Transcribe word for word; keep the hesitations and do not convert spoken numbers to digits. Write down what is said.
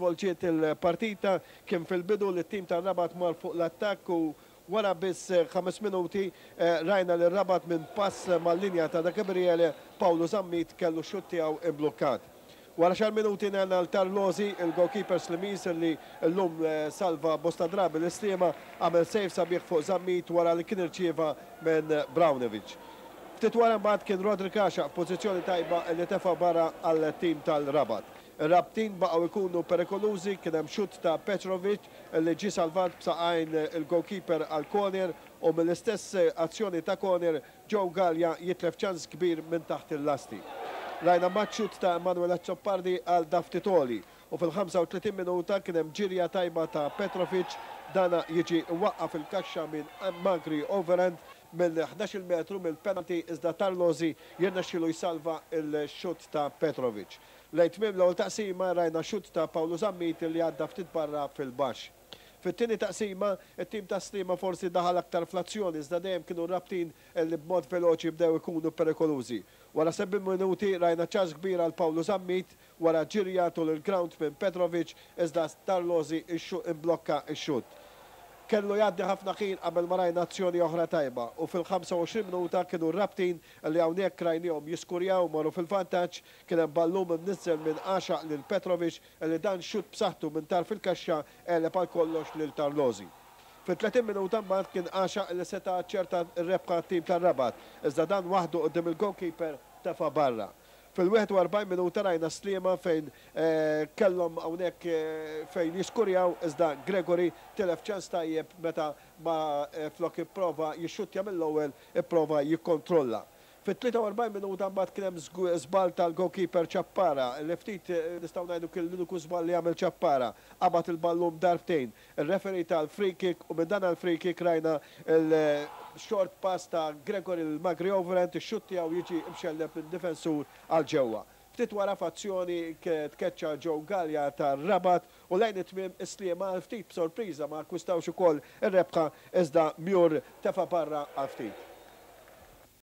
Żvolġiet il-partita, kien fil-bidu li t-tim tar-Rabat mar fuq l-attakk u wara biss ħames minuti rajna li Rabat minn pass mal-linja ta' Da Gabriele, Paolo Zammit kellu xutt tiegħu imblukkat. Wara għaxar minuti ngħanna l-Tarlosi, il-goalkeeper Slimiż li llum salva bosta drabi l-Sliema, għamel save sabiħ fuq Zammit wara li kien irċieva minn Braunovic. Ftit wara mbagħad kien Rodrik Għaxaq f'pożizzjoni tajba li tefa' barra għal-tim tal-Rabat. Ir-Rabtin baqgħu jkunu perikolużi, kien hemm xutt ta' Petrovic li ġie salvat b'saqajn il-goalkeeper għal corner u mill-istess azzjoni ta' corner Joe Gallia jitlef ċans kbir minn taħt il-lasti. Rajna xutt ta' Emanuel Azzopardi għal Daftitoli u fil-ħamsa u tletin minuta kien hemm ġirja tajba ta' Petrovic, dana jiġi waqqa fil-kaxxa minn Magri Overend minn ħdax-il metru mill-penalty, iżda Tarlosi jirnexxilu jsalva il-xutt ta' Petrovic. Lejn tmiem l-ewwel taqsima rajna xutt ta' Paolo Zammit li għadda ftit barra fil-baxx. Fit-tieni taqsima, it-tim ta' Sliema forsi daħal aktar fl-azzjoni, iżda dejjem kienu Rabtin li b'mod veloċi bdew ikunu perikolużi. Wara seba' minuti rajna ċans kbir għal Paolo Zammit wara ġirja tul il-ground minn Petrovic, iżda Tarlosi imblokka x-xutt. Kellu jgħaddi ħafna ħin qabel ma rajna azzjoni oħra tajba u fil-ħamsa u għoxrin minuta kienu Rabtin li hawnhekk rajnihom jiskurjaw, marru fil-vantaġġ, kien hemm ballum imniżżel minn Għaxaq lil Petrovic li dan xutt b'saħħtu minn tarf il-kaxxa għeleb għal kollox lil Tarlosi. Fit-tletin minuta mbagħad kien Għaxaq li seta' ċerta r-rebħa tim tar-Rabat, iżda dan waħdu quddiem il-goalkeeper tefa' barra. Fil-wieħed u erbgħin minuta rajna Sliema fejn kellhom hawnhekk fejn jiskurjaw, iżda Gregory tilef ċans tajjeb meta ma flok ipprova jixxuttja mill-ewwel ipprova jikkontrolla. Fit-tlieta u erbgħin minuta mbagħad kien hemm żball tal-goalkeeper Ċappara li ftit nistgħu ngħidu kien l-uniku żball li għamel Ċappara. Qabad il-ballun darbtejn. Ir-referee tal-free kick u minn dan għall-free kick rajna il-short pass ta' Gregory l-Magri Overend, ix-xutt tiegħu jiġi mxelleb minn difensur għal ġewwa. Ftit wara f'azzjoni tkeċċa Joe Gallia tar-Rabat u lejn it-tmiem Sliema għal ftit b'sorpriża ma akkwistawx ukoll ir-rebħa, iżda Mjur tefa' barra għal ftit.